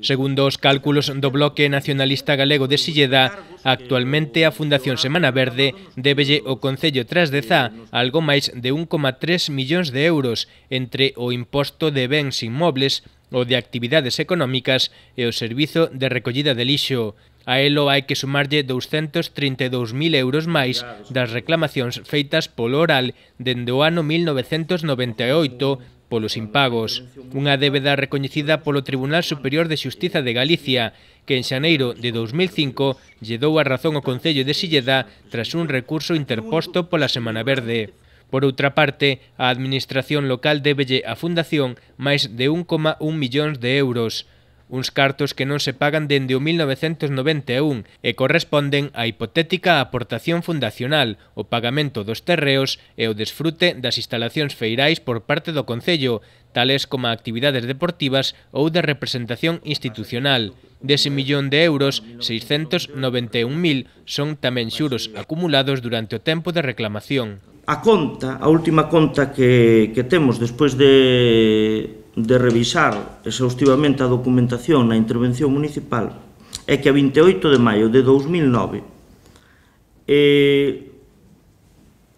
Segundo os cálculos do Bloque Nacionalista Galego de Silleda, actualmente a Fundación Semana Verde débelle ao Concello Tras de Zá algo máis de 1,3 millóns de euros entre o imposto de bens inmobles, o de actividades económicas e o servizo de recollida de lixo. A elo hai que sumarlle 232.000 euros máis das reclamacións feitas polo oral dende o ano 1998 polos impagos. Unha débeda recoñecida polo Tribunal Superior de Xustiza de Galicia, que en xaneiro de 2005 lle dou a razón ao Concello de Silleda tras un recurso interposto pola Semana Verde. Por outra parte, a Administración local débelle á Fundación máis de 1,1 millóns de euros, uns cartos que non se pagan dende o 1991 e corresponden á hipotética aportación fundacional, o pagamento dos terreos e o desfrute das instalacións feirais por parte do Concello, tales como actividades deportivas ou de representación institucional. Dese millón de euros, 691.000 son tamén xuros acumulados durante o tempo de reclamación. A última conta que temos despois de revisar exhaustivamente a documentación na intervención municipal é que a 28 de maio de 2009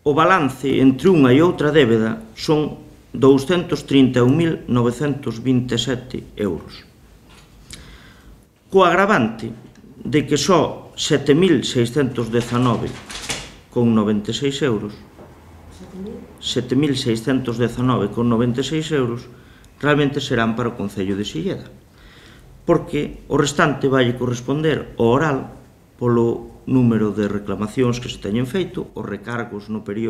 o balance entre unha e outra débeda son 231.927 euros. Co agravante de que só 7.619,96 euros 7.619,96 euros realmente serán para o Concello de Silleda, porque o restante vai corresponder ao oral polo número de reclamacións que se teñen feito, os recargos no período